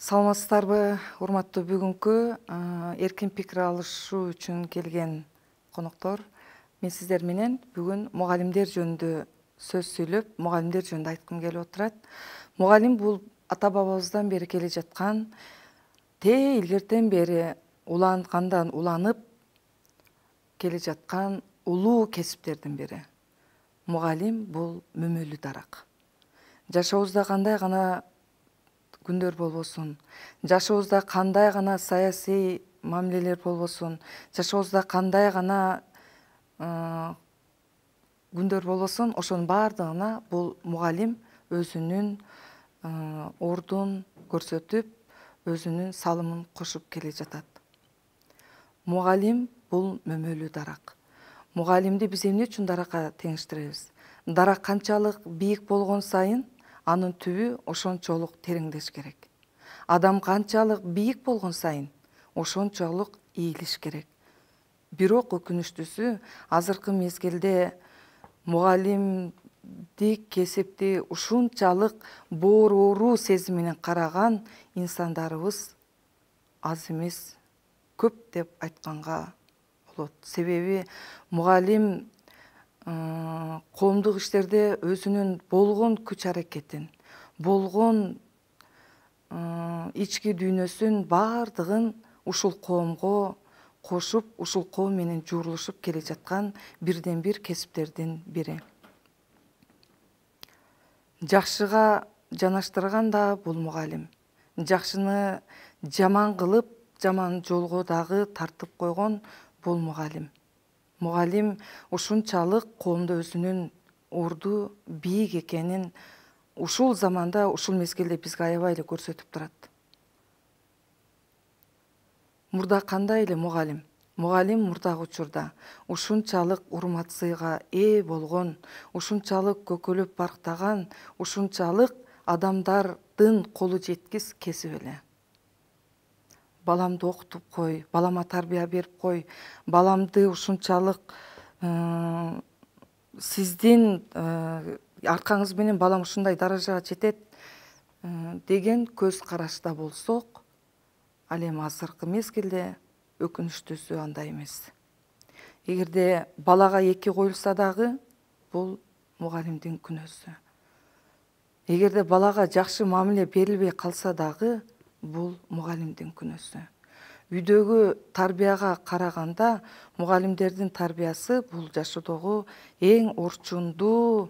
Саламатсыздарбы, урматтуу бүгүнкү эркин пикир алышуу үчүн келген коноктор. Мен сиздер менен бүгүн мугалимдер жөнүндө сөз сүйлөп, мугалимдер жөнүндө айткым келип отурат. Мугалим бул ата бабабыздан бери келе жаткан, илгертен бери улангандан уланып келе жаткан улуу кесиптердин бири. Мугалим бул мөмөлүү дарак. Жашообузда кандай гана күндөр болбосун, жашообузда кандай гана саясий мамилелер болбосун, жашообузда кандай гана күндөр болбосун, ошонун баардыгына бул мугалим өзүнүн ордун көрсөтүп, өзүнүн салымын кошуп келе жатат. Мугалим бул мөмөлүү дарак. Мугалимди биз эмне үчүн даракка теңиштиребиз? Дарак канчалык бийик болгон сайын анын түбү ошончолук тереңдеш керек. Адам канчалык бийик болгон сайын ошончолук ийилиш керек. Бирок өкүнүчтүүсү, азыркы мезгилде мугалимдик кесипти ушунчалык бооруруу сезим менен караган инсандарыбыз аз эмес, көп деп айтканга болот. Себеби мугалим коомдук иштерде өзүнүн болгон күч аракетин, болгон ички дүйнөсүн баардыгын ушул коомго кошуп, ушул коом менен жуурулушуп келе жаткан бирден бир кесиптердин бири. Жакшыга жанаштырган да бул мугалим. Жакшыны жаман кылып, жаман жолго дагы тартып койгон бул мугалим. Мугалим ушунчалык коомдо өзүнүн орду бийик экенин ушул заманда, ушул мезгилде бизге аябай эле көрсөтүп турат. Мурда кандай эле мугалим? Мугалим мурдагы учурда ушунчалык урмат сыйга ээ болгон, ушунчалык көкөлөп барктаган, ушунчалык адамдардын колу жеткис кесип эле. Баламды окутуп кой, балама тарбия берип кой, баламды ушунчалык сиздин аркаңыз менен балам ушундай даражага жетет деген көз карашта болсок, ал эми азыркы мезгилде өкүнүчтүүсү андай эмес. Эгерде балага эки коюлса дагы, бул мугалимдин күнөөсү. Эгерде балага жакшы мамиле берилбей калса дагы, бул мугалимдин күнөөсү. Үйдөгү тарбияга караганда мугалимдердин тарбиясы бул жашоодогу эң орчундуу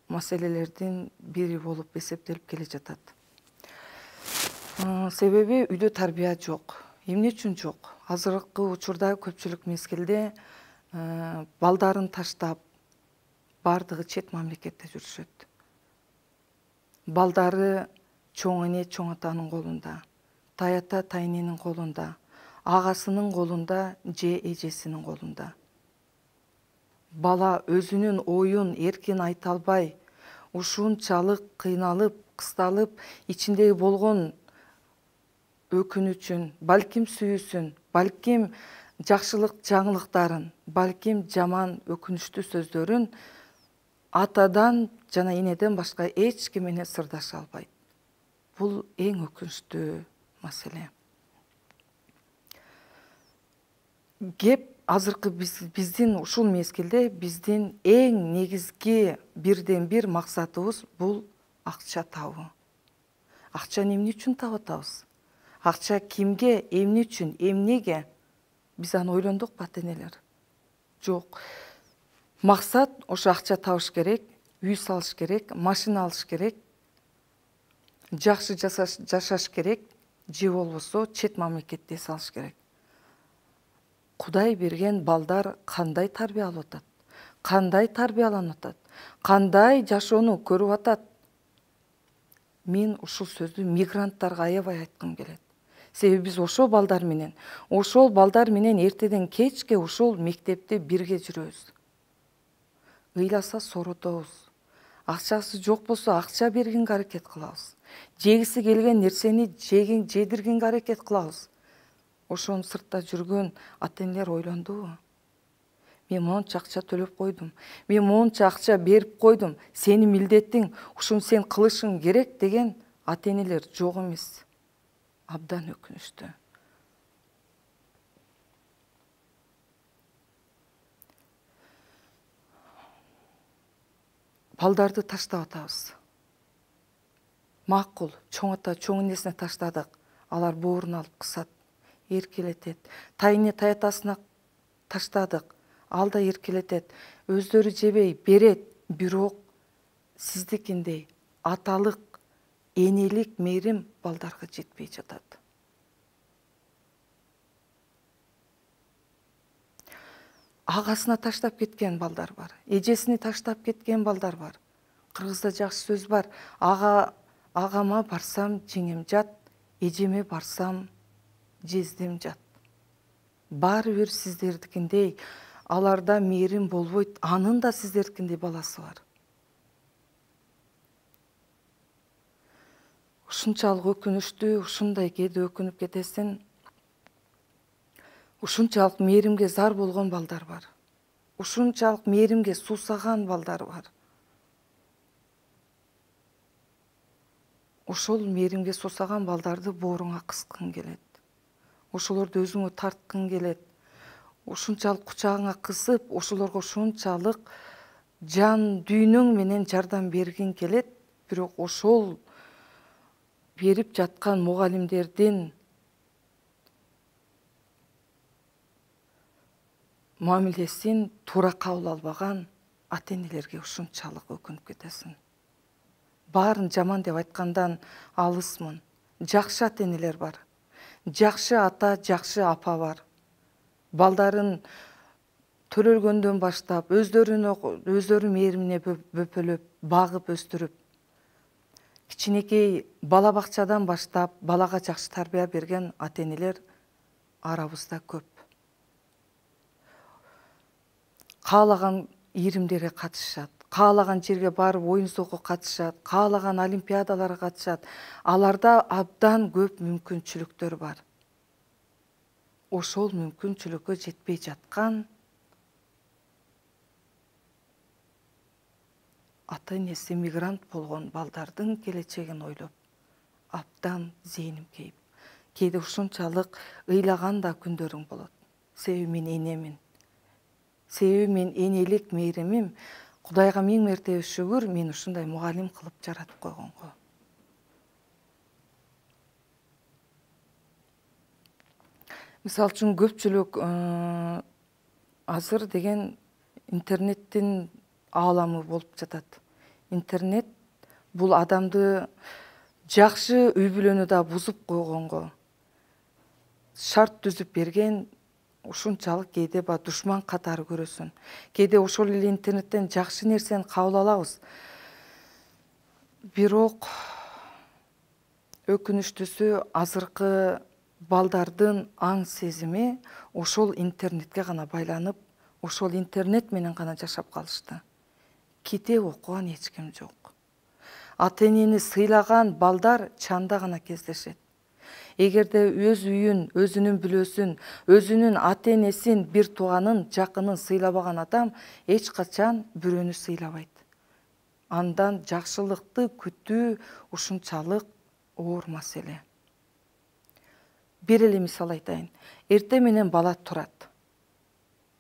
маселелердин бири болуп эсептелип келе жатат. Себеби үйдө тарбия жок. Эмне үчүн жок? Азыркы учурда көпчүлүк мезгилде балдарын таштап, баардыгы чет мамлекетте жүрүшөт. Балдары чоң эне, чоң атанын колунда, тайата, тайненин колунда, агасынын колунда же эжесинин колунда. Бала өзүнүн оюн эркин айта албай, ушунчалык кыйналып, кысталып, ичиндеги болгон өкүнүчүн, балким сүйүүсүн, балким жакшылык жаңылыктарын, балким жаман өкүнүчтүү сөздөрүн атадан жана энеден башка эч ким менен сырдаша албайт. Бул эң өкүнүчтүү маселе. Кеп азыркы биздин ушул мезгилде биздин эң негизги бирден бир максатыбыз бул акча табуу. Акчаны эмне үчүн таап атабыз? Акча кимге, эмне үчүн, эмнеге? Биз аны ойлондукпу, ата-энелер? Жок. Максат ошо акча табыш керек, үй салыш керек, машина алыш керек, жакшы жашаш керек, же болбосо чет мамлекетте эс алыш керек. Кудай берген балдар кандай тарбия алып атат? Кандай тарбияланып атат? Кандай жашоону көрүп атат? Мен ушул сөздү мигранттарга аябай айткым келет. Себеби биз ошол балдар менен эртеден кечке ушул мектепте бирге жүрөбүз. Ыйласа соротобуз. Акчасы жок болсо акча бергенге аракет кылабыз. Жегиси келген нерсени жедиргенге аракет кылабыз. Ошону сыртта жүргөн ата-энелер ойлондубу? Мен монча акча төлөп койдум. Мен монча акча берип койдум. Сенин милдетиң, ушуну сен кылышың керек деген ата энелер жок эмес. Абдан өкүнүчтүү. Балдарды таштап атабыз. Макул, чоң ата чоң энесине таштадык. Алар боорун алып кысат, эркелетет. Тайыне таятасына таштадык. Ал да эркелетет. Өздөрү жебей берет, бирок сиздикиндей аталык, энелик мээрим балдарга жетпей жатат. Агасына таштап кеткен балдар бар. Эжесини таштап кеткен балдар бар. Кыргызда жакшы сөз бар. Агама барсам жеңем жат, эжеме барсам жездем жат. Баары бир сиздердикиндей аларда мээрим болбойт, анын да сиздердикиндей баласы бар. Ушунчалык өкүнүчтүү, ушундай кээде өкүнүп кетесиң. Ушунчалык мээримге зар болгон балдар бар. Ушунчалык мээримге суусаган балдар бар. Ошол мээримге суусаган балдарды бооруңа кыскың келет. Ошолорду өзүңө тарткың келет. Ушунчалык кучагыңа кысып, ошолорго ушунчалык жан дүйнөң менен жардам бергиң келет. Бирок ошол берип жаткан мугалимдердин мамилесин туура кабыл албаган ата энелерге ушунчалык өкүнүп кетесиң. Баарын жаман деп айткандан алысмын. Жакшы ата энелер бар. Жакшы ата, жакшы апа бар. Балдарын төрөлгөндөн баштап өздөрү мээримине бөпөлөп, багып өстүрүп, кичинекей бала бакчадан баштап балага жакшы тарбия берген ата энелер арабызда көп. Каалаган ийримдерге катышат, каалаган жерге барып оюн соокко катышат, каалаган олимпиадаларга катышат. Аларда абдан көп мүмкүнчүлүктөр бар. Ошол мүмкүнчүлүккө жетпей жаткан ата энеси мигрант болгон балдардын келечегин ойлоп абдан зээним кейип. Кээде ушунчалык ыйлаган да күндөрүң болот. Себеби мен энемин. Себеби мен энелик мээримим Кудайга миң мертебе шүгүр, мен ушундай мугалим кылып жаратып койгонго. Мисалы үчүн көпчүлүк азыр деген интернеттин ааламы болуп жатат. Интернет бул адамды жакшы үй бүлөнү да бузуп койгонго шарт түзүп берген. Ушунчалык кээде душман катары көрөсүң. Кээде ошол эле интернеттен жакшы нерсени кабыл алабыз. Бирок өкүнүчтүүсү азыркы балдардын аң сезими ошол интернетке гана байланып, ошол интернет менен гана жашап калышты. Китеп окуган эч ким жок. Ата энени сыйлаган балдар чанда гана кездешет. Эгерде өз үйүн, өзүнүн бүлөсүн, өзүнүн ата энесин, бир тууганын, жакынын сыйлабаган адам эч качан бирөөнү сыйлабайт. Андан жакшылыкты күтүү ушунчалык оор маселе. Бир эле мисал айтайын. Эртең менен бала турат.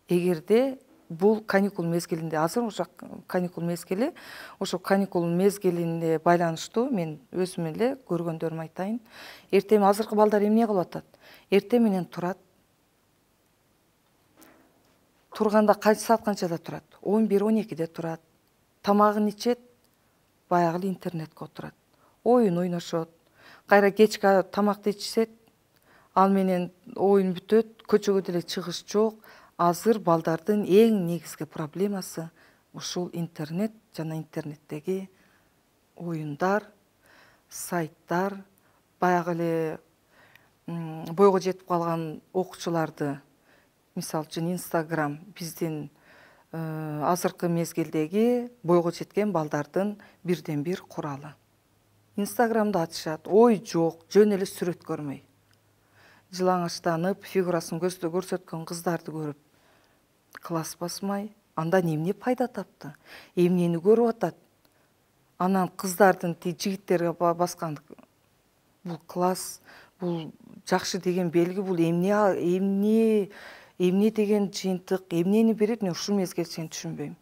Эгерде бул каникул мезгилинде, азыр ошо каникул мезгили, ошо каникул мезгилине байланыштуу мен өзүм эле көргөндөрүмү айтайын. Эртең азыркы балдар эмне кылып атат? Эртең менен турат. Турганда саат канчада турат? 11-12де турат. Тамагын ичет, баягы эле интернетке отурат. Оюн ойношот. Кайра кечки тамакты ичсет, ал менен оюн бүтөт, көчөгө деле чыгыш жок. Азыр балдардын эң негизги проблемасы ушул интернет жана интернеттеги оюндар, сайттар, баягы эле бойго жетип калган окуучуларды, мисалы үчүн Instagram биздин азыркы мезгилдеги бойго жеткен балдардын бирден бир куралы. Instagramды ачышат, ой жок, жөн эле сүрөт көрмөй. Жылаңачтанып, фигурасын көрсөткөн кыздарды көрүп класс басмай, андан эмне пайда тапты? Эмнени көрүп атат? Анан кыздардын жигиттерге баскан бул класс, бул жакшы деген белги, бул эмне деген жыйынтык, эмнени берет, мен ушул мезгилде сени түшүнбөйм.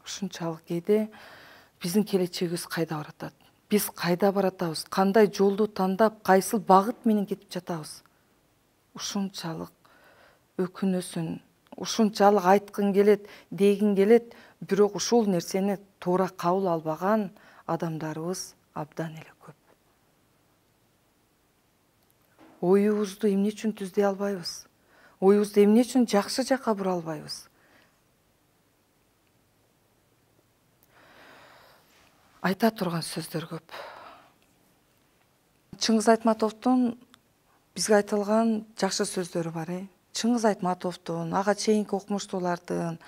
Ушунчалык кээде биздин келечегибиз кайда баратат? Биз кайда баратабыз? Кандай жолду тандап, кайсыл багыт менен кетип жатабыз? Ушунчалык өкүнөсүн, ушунчалык айткың келет, дегиң келет, бирок ушул нерсени туура кабыл албаган адамдарыбыз абдан эле көп. Оюбузду эмне үчүн түздөй албайбыз? Оюбузду эмне үчүн жакшы жакка бура албайбыз? Айта турган сөздөр көп. Чыңгыз Айтматовдун бизге айтылган жакшы сөздөрү бар. Чыңгыз Айтматовдун, ага чейинки окумуштуулардын,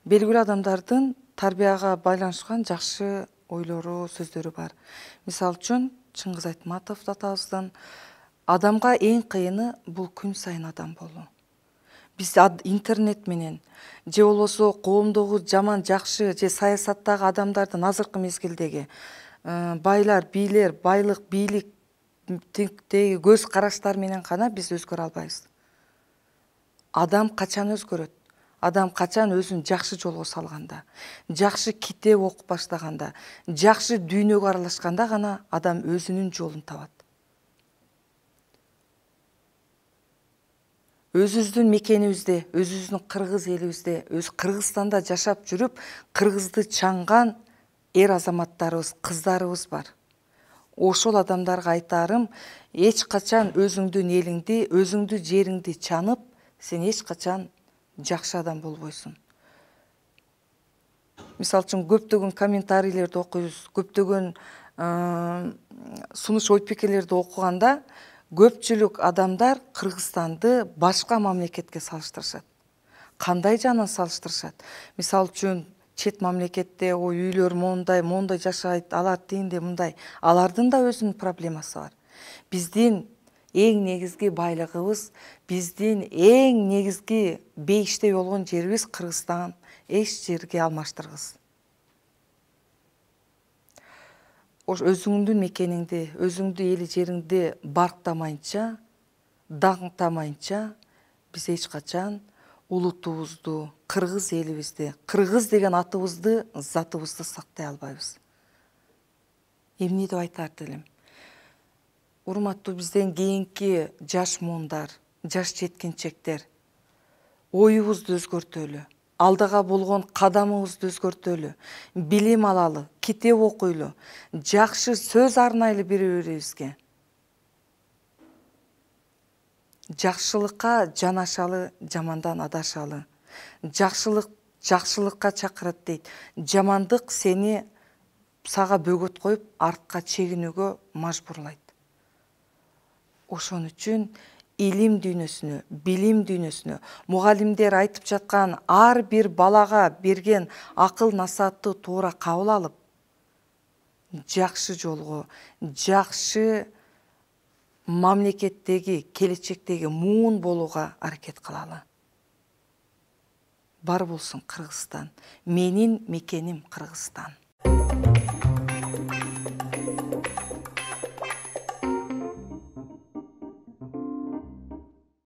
белгилүү адамдардын тарбияга байланышкан жакшы ойлору, сөздөрү бар. Мисалы үчүн Чыңгыз Айтматов атабыздын адамга эң кыйыны бул күн сайын адам болуу. Биз интернет менен же болбосо коомдогу жаман жакшы же саясаттагы адамдардын азыркы мезгилдеги байлар, бийлер, байлык, бийликтеги көз караштар менен гана биз өзгөрө албайбыз. Адам качан өзгөрөт? Адам качан өзүн жакшы жолго салганда, жакшы китеп окуп баштаганда, жакшы дүйнөгө аралашканда гана адам өзүнүн жолун табат. Өзүбүздүн мекенибизде, өзүбүздүн кыргыз элибизде, өз Кыргызстанда жашап жүрүп, кыргызды чаңган эр азаматтарыбыз, кыздарыбыз бар. Ошол адамдарга айтарым, эч качан өзүңдүн элиңди, өзүңдүн жериңди чанып, сен эч качан жакшы адам болбойсуң. Мисалы үчүн көптөгөн комментарийлерди окуйбуз, көптөгөн сунуш ой пикирлерди окуганда көпчүлүк адамдар Кыргызстанды башка мамлекетке салыштырышат. Кандай жагынан салыштырышат? Мисалы үчүн чет мамлекетте үйлөр мондай жашайт, алар тигиндей мындай. Алардын да өзүнүн проблемасы бар. Биздин эң негизги байлыгыбыз, биздин эң негизги бейиштей болгон жерибиз Кыргызстан. Эч жерге алмаштыргыс. Өзүңдүн мекениңди, өзүңдүн эли жериңди барктамайынча, даңктамайынча биз эч качан улутубузду, кыргыз элибизди, кыргыз деген атыбызды, затыбызды сактай албайбыз. Эмне деп айтар элем? Урматтуу бизден кийинки жаш муундар, жаш жеткинчектер, оюбузду өзгөртөлү, алдыга болгон кадамыбызды өзгөртөлү, билим алалы, китеп окуйлу, жакшы сөз арнайлы бири-бирибизге. Жакшылыкка жанашалы, жамандан адашалы. Жакшылык жакшылыкка чакырат дейт. Жамандык сени сага бөгөт коюп, артка чегинүүгө мажбурлайт. Ошон үчүн илим дүйнөсүнө, билим дүйнөсүнө, мугалимдер айтып жаткан ар бир балага берген акыл насаатты туура кабыл алып, жакшы жолго, жакшы мамлекеттеги, келечектеги муун болууга аракет кылалы. Бар болсун Кыргызстан. Менин мекеним Кыргызстан.